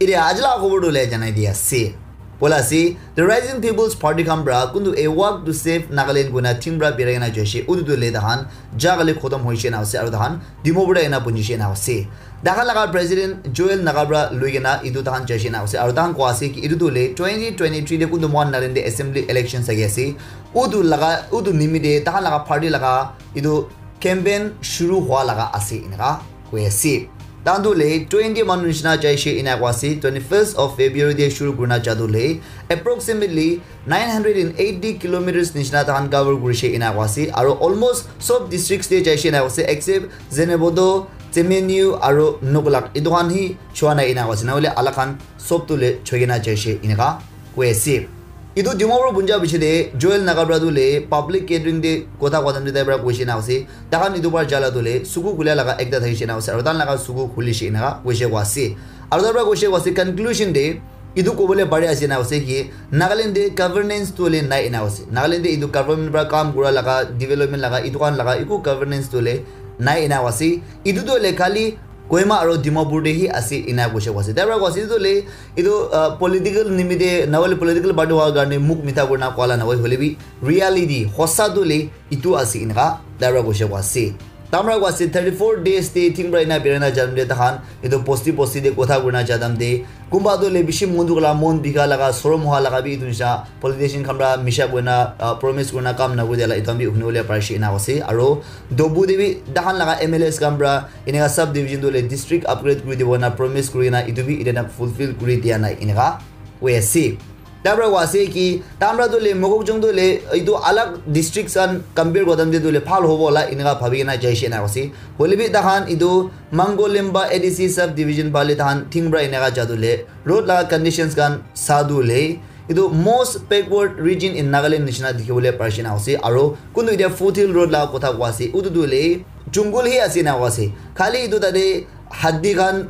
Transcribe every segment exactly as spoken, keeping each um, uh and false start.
Ite aji laga khobor tu le janai di ase. Bola ase, the Rising People's Party khan pra kuntu a walk to save Nagaland koina theme pra birai kena jaise. Utu tu le tahan jaga le khotom hoise na ase, aru tahan Dimapur te ena punjise na ase. Tahan laga president Joel Naga pra lui kena itu tahan jaise na ase. Aru tahan koa ase ki itu tu le twenty twenty-three te kuntu mohan Nagaland te assembly election sagi ase. Utu laga, utu nimite tahan laga party laga itu campaign shuru hua laga ase eneka koi ase. Tahan tu le twenty manu nishina jaise ena koi ase. Twenty-first of February te shuru kurina ja tu le approximately nine hundred and eighty kilometers nishina tahan cover kurise ena koi ase. Aru almost sob districts te jaise ena koi ase except Zunheboto, Tseminyu aru Nukolak. Itu khan hi chua nai ena koi ase. Nahole alag khan sob tu le choi kena jaise eneka koi ase. Itu Dimapur punja piche te Joel Naga pra tu le public gathering te kotha kotha te tai pra koise na ase. Tahan itu par jala tu le suku khule laga ekta thakise na ase. Aru tahan laga suku khulise eneka koise koi ase. Aru tai pra koise koi ase conclusion te itu kobole pare ase na ase ki Nagaland te governance tu le nai ena ase. Nagaland te itu government pra kam kura laga, development laga, itu khan laga eku governance tu le nai ena ase. Itu tu le khali Kohima aru Dimapur te hi ase ena koise koi ase. Tai pra koi ase itu le itu, ah, political nimite nahole political party howa karne mukh mitha kurina koala nahoi, hoile bi reality hosa tu le itu ase eneka tai pra koise koi ase. Tai pra koi ase thirty-four days te theme pra ena birai na janam te tahan itu bosti bosti te kotha kurina janam te kunba tu le bishi mon dukh la, mon bikha laga, sorom hoa laga bi itu nisha politician khan pra misha koina, ah, promise kurina kam nakuri dia la itu khan bi huni bole parise ena ase. Aru Dobu te bi tahan laga M L As khan pra eneka sub division tu le district upgrade kuri dibo na promise kuri na itu bi ite na fulfill kuri dia nai eneka koi ase. Tai pra koi ase ki tai pra tu le Mokokchung tu le itu alag districts khan compare kura time te tu le bhal hobo la eneka bhabi kena jaise ena ase. Hoile bi tahan itu Mangolemba A D C sub division phale tahan theme pra eneka ja tu le road laga conditions khan sa tu le itu most backward region in Nagaland nishina dikhi bole parise na ase. Aru kuntu ite foothill road laga kotha koi ase. Utu tu le jungle hi ase na koi ase. Khali itu tate hatti khan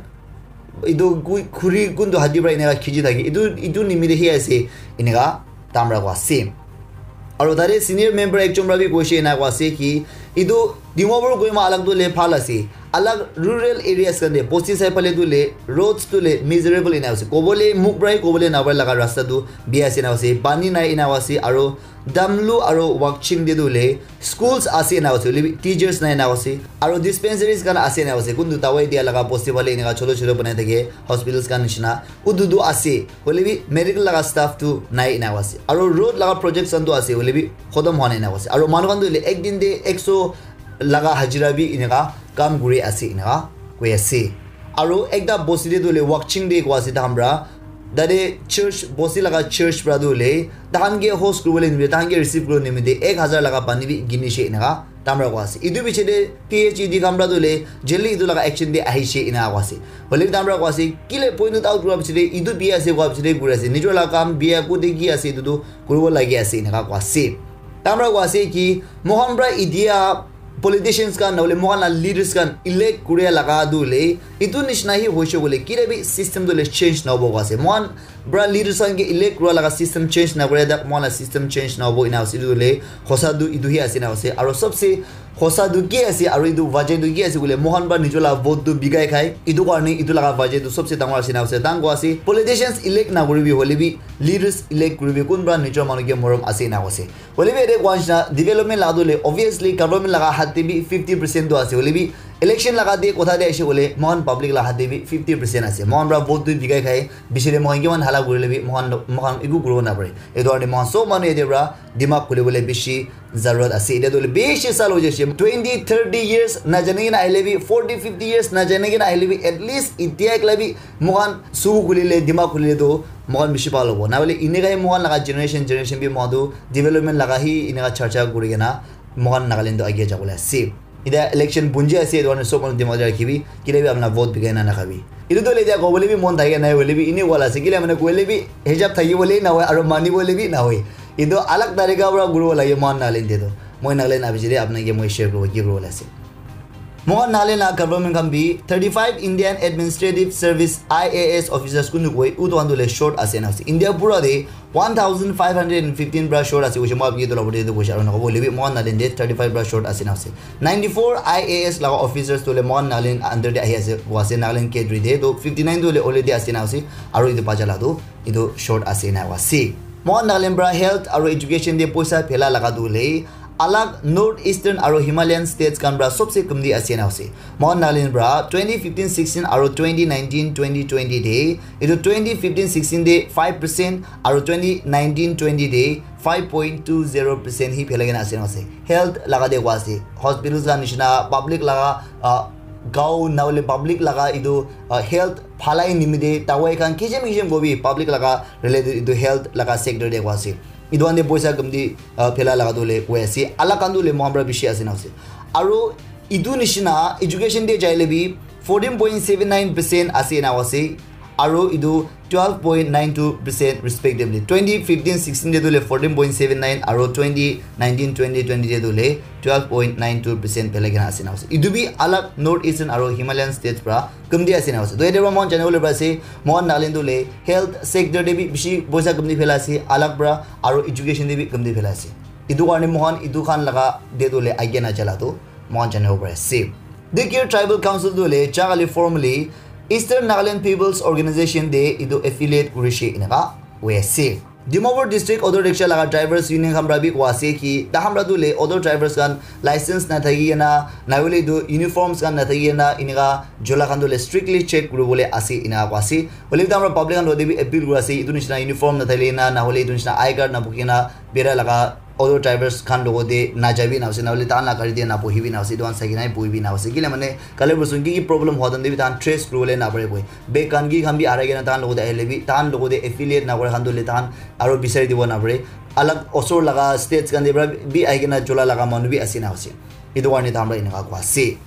itu kui-, khuri kuntu hatti pra eneka khichi thaki. Itu, itu nimite hi ase eneka tai pra koi ase. Aru tate senior member ekjon pra bi koise ena koi ase ki itu Dimapur Kohima alag tu le bhal ase. Alag rural areas khan te bosti sai phale tu le roads tu le miserable ena ase. Kobole mukh pra hi kobole napare laga rasta tu bia ase ena ase. Pani nai ena ase. Aru Damlu aru Wakching te tu le schools ase ena ase. Hoile bi teachers nai ena ase. Aru dispensaries khan ase ena ase. Kuntu dawai dia laga bosti phale eneka choto choto banai thake hospitals khan nishina. Utu tu ase. Hoile bi medical laga staff tu nai ena ase. Aru road laga projects khan tu ase. Hoile bi khotom hoa nai ena ase. Aru manu khan tu hoile ek din te ekso laga hajira bi eneka kam kuri ase eneka koi ase. Aru ekta bosti te tu hoile Wakching te koi ase tahan pra. Tate church, bosti laga church pra tu hoile tahan ke host kuribole nimite, tahan ke receive kuribole nimite ek hazar laga pani bi kinise eneka tai pra koi ase. Itu piche te P H E D khan pra tu hoile joldi itu laga action te ahise eneka koi ase. Hoile bi tai pra koi ase, kile point out kura piche te itu bia ase koi piche te kuri ase. Nijor laga kam bia kote ki ase itu tu kuribo lagi ase eneka koi ase. Tai pra koi ase ki mohan pra idia politicians khan nahole mohan la leaders khan elect kuria laga tu hoile itu nishina hi hoise koile kile bi system tu hoile change nahobo koi ase. Mohan pra leaders khan ke elect kura laga system change nakure tak mohan la system change nahobo ena ase. Itu tu hoile hosa tu itu hi ase na ase. Aru sabse hosa tu ki ase aru itu wajah tu ki ase koile mohan pra nijor la vote tu bikai khai. Itu karne itu laga wajah tu sabse dangor ase na ase. Tahan koi ase politicians elect nakuribi hoile bi leaders elect kuribi kun pra nijor manu ke morom ase na ase. Hoile bi ete koa nishina development laga tu hoile obviously government laga hath te bi fifty percent tu ase. Hoile bi election laga te kotha te aise koile mohan public laga hath te bi fifty percent ase. Mohan pra vote tu bikai khai bishi te mohan kiman hala kurile bi mohan, mohan eku kuribo napare. Etu karne mohan sob manu ete pra dimag khulibole bishi zarurat ase. Ete tu hoile bishi sal hoi jaise. Twenty, thirty years na jane kena ahile bi, forty, fifty years na jane kena ahile bi, at least etiya ekla bi mohan su khulile, dimag khulile tu mohan bishi bhal hobo. Nahole eneka hi mohan laga generation, generation bi mohan tu development laga hi eneka charcha kuri kena mohan Nagaland tu agia jabole ase. Etiya election bunji ase, etu karne sob manu dimag te rakhibi, kile bi apna vote bikai na nakhabi. Etu tu hoile etiya kobole bi mon thake nai, hoile bi ene wala ase, kile mane koile bi hijab thaki bole na hoi, aru mani bole bi na hoi. Etu alag tarika pra kuribo lage mohan Nagaland te tu. Moi Nagaland abiche te apna ke moi share kuribo, ki kuribo ase. Mohan Nagaland la government khan bi thirty-five Indian Administrative Service, I A S, officers kunu koi utu khan tu le short ase na ase. India pura de one thousand five hundred and fifteen pra short ase koise, moi apni etu la bole etu koise aru nakobo hoile bi Mohan Nagaland de thirty-five pra short ase na ase. Ninety-four I A S laga officers tu le Mohan Nagaland under de ahi ase, wa ase Nagaland cadre de, to fifty-nine tu le already ase na ase, aru etu bacha la tu etu short ase na wa ase. Mohan Nagaland pra health aru education de poisa phela laga tu le alag North Eastern aru Himalayan states khan pra sobse kamti ase na ase. Mohan Nagaland pra twenty fifteen sixteen aru twenty nineteen twenty twenty de, etu twenty fifteen sixteen de five percent aru twenty nineteen twenty de five point two zero percent hi phelai kena ase na ase. Health laga de koa ase. Hospitals la nishina, public laga, ah, gao na hoile public laga etu, ah, health phalai nimite dawai khan kisim kisim kobi public laga related etu health laga sector de koa ase. Etu khan de poisa kamti, ah, phela laga tu le koi ase. Alag khan tu le mohan pra bishi ase na ase. Aru etu nishina education de jaile bi fourteen point seven nine percent ase na ase. Aru etu twelve point nine two percent respectively. Twenty fifteen sixteen de tu le fourteen point seven nine aru twenty nineteen twenty twenty de tu le twelve point nine two percent phelai kena ase na ase. Etu bi alag North Eastern aru Himalayan states pra kamti ase na ase. To yate pra mohan janibo le pari ase, Mohan Nagaland tu le health sector de bi bishi poisa kamti phela ase, alag pra aru education de bi kamti phela ase. Etu karne mohan etu khan laga de tu le aage na jala tu mohan janibo pari ase. Dikir Tribal Council tu le jagali formally Eastern Nagaland People's Organization de etu affiliate kurishe eneka hoi ase. Dimapur District Auto Rickshaw laga Drivers Union khan pra bi koa ase ki tahan pra tu le auto drivers khan license na thaki kena, na hoile tu uniforms khan na thaki kena, eneka jola khan tu le strictly check kuribole ase eneka koa ase. Hoile bi tahan pra public khan logote bi appeal kuri ase, etu nishina uniform na thakile na, na hoile etu nishina I card na bukhi kena bera laga auto drivers khan logote na jabi na ase, na hoile tahan la gari de na bohibi na ase, etu khan sai kena bohibi na ase. Kile mane kali purson ki ki problem hua tan de bi tahan trace kuribole na pare koi. Bag khan ki khan bi harai kena tahan logote ahile bi, tahan logote affiliate na kore khan tu le tahan aru bisari dibo na pare. Alag osor laga states khan de pra bi ahi kena jola laga manu bi ase na ase. Etu karne tahan pra eneka koa ase.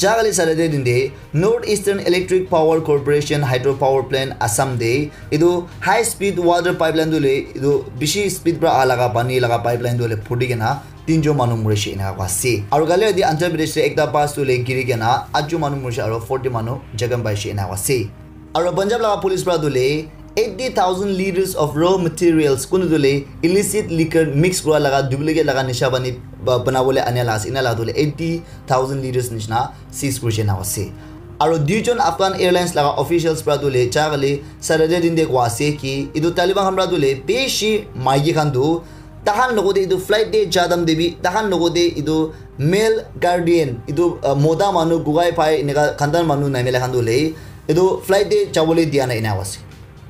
Jagali Saturday din de North Eastern Electric Power Corporation Hydro Power Plant Assam de etu high speed water pipeline tu le etu bishi speed pra aha laga pani laga pipeline tu le phuti kena tinjon manu murishe eneka koa ase. Aru kali yate Andhra Pradesh de ekta bus tu le giri kena atjon manu murishe aru forty manu jakham paishe eneka koa ase. Aru Punjab laga police pra tu le eighty thousand liters of raw materials kunu tu le illicit liquor mix kura laga duplicate laga nisha pani ba-, banabole ania la ase, ena la tu le eighty thousand liters nishina seize kurishe na ase. Aru duijon Afghan Airlines laga officials pra tu le jagali Saturday din de koa ase ki etu Taliban khan pra tu le bishi maiki khan tu tahan logote etu flight de ja time de bi tahan logote etu male guardian etu, ah, mota manu gugai phai eneka khandan manu naimela khan tu le etu flight de jabole dia na ena ase.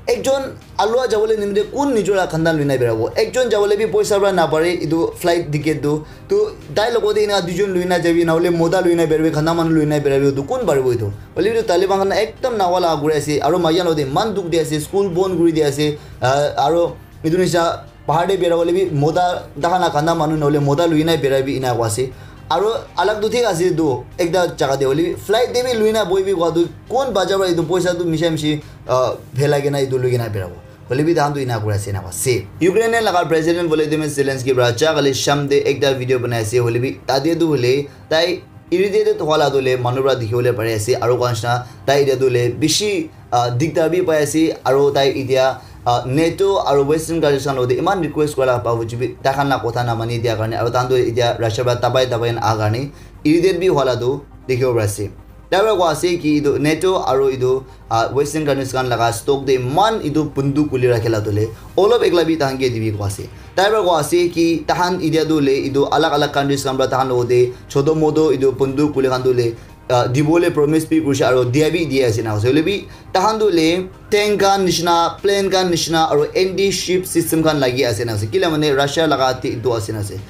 Ekjon alua jabole nimite kun nijor la khandan lui na berabo? Ekjon jabole bi poisa pra na pare etu flight ticket tu. To tai logote ena duijon lui na jabi, na hole mota lui na berabi, khandan manu lui na berabi, to kun paribo etu? Hoile bi etu Taliban khan ekdam nawa laga kuri ase, aru maiki khan logote eman dukh di ase, school bon kuri di ase, ah, aru etu nisha bahar de bera bole bi mota, tahan la khandan manu na hole mota lui na bera bi ena koa ase. Aru alag tu thik ase tu, ekta jaga de hoile bi flight de bi lui na bohi bi koa tu kun bacha pra etu poisa tu misha mishi, ah, phelai kena etu lui kena berabo? Hoile bi tahan tu ena kuri ase ena koa ase. Ukraine laga President Volodymyr Zelensky pra jagali sham de ekta video banai ase, hoile bi tate tu hoile tai irritated hua la tu le manu pra dikhi bole pari ase, aru koa nishina tai etia tu le bishi, ah, diktar bi pai ase, aru tai etia, ah, NATO aru Western countries khan logote eman request kura la bavuji bi tai khan la kotha na mani dia karne, aru tahan tu etia Russia pra dabai dabai na aha karne irritate bi hua la tu dikhibo pari ase. Tai pra koa ase ki etu NATO aru etu, ah, Western countries khan laga stock de eman etu bunduk khuli rakhi la tu le olop ekla bi tahan ke dibi koa ase. Tai pra koa ase ki tahan etia tu le etu alag alag countries khan pra tahan logote choto moto etu bunduk khuli khan tu le, ah, dibole promise bi kurishe aru dia bi dia ase na ase. Hoile bi tahan tu le tank khan nishina, plane khan nishina aru anti ship system khan lagi ase na ase. Kila mane Russia laga ate etu ase na ase.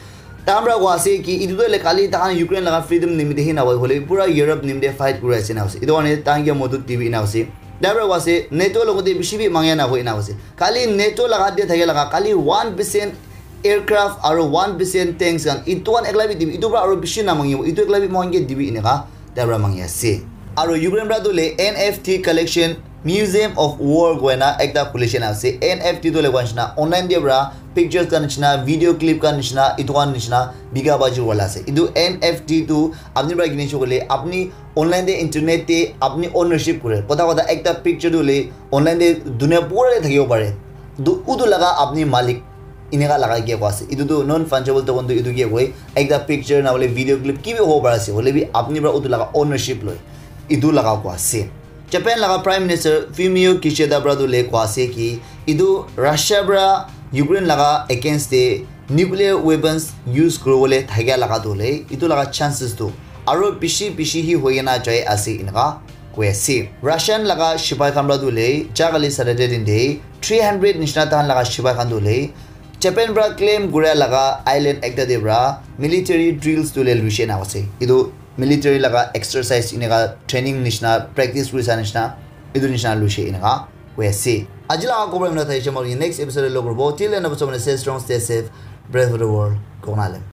Tahan pra koa ase ki etu tu le khali tahan Ukraine laga freedom nimite hi na hoi, hoile pura Europe nimite fight kuri ase na ase. Etu karne tahan ke modot dibi na ase. Tai pra koa ase NATO logote bishi bi mangya na hoi na ase. Khali NATO laga ate thake laga khali one percent aircraft aru one percent tanks khan etu khan ekla bi dibi, etu pra aru bishi na mangibo, etu ekla bi moikhan ke dibi eneka tai pra mangi ase. Aru Ukraine pra tu le N F T collection Museum of War koina ekta khulise na ase. N F T tu le koina nishina online te para pictures khan nishina, video clip khan nishina, itu khan nishina bika baji wala ase. Itu N F T tu apni para kini shokole apni online te internet te apni ownership kore. Kotha kotha ekta picture tu le online te dunia pura te thakibo pare. Du utu laga apni malik ineka laga ke ko ase. Itu tu non fungible token tu itu ke koi. Ekta picture na hole video clip ki bi hobo pare ase. Hole bi apni para utu laga ownership loi. Itu laga ko ase. Japan laga Prime Minister Fumio Kishida para tu le ko ase ki itu Russia para Ukraine laga against te nuclear weapons use kuribole thakia laga tu le itu laga chances tu aro bishi bishi hi hoi kena jai ase ineka koi ase. Russian laga sipai khan para tu le jagali Saturday din de three hundred nishina tahan laga sipai khan tu le Japan para claim kura laga island ekta de para military drills tu le luishe na ase. Itu military laga exercise ineka training nishina practice kurisa nishina itu nishina luishe ineka koi ase. Aji laga khobor imna thai chamo next episode lo kurbo. Till then, stay strong, stay safe, brave for the world. Konale.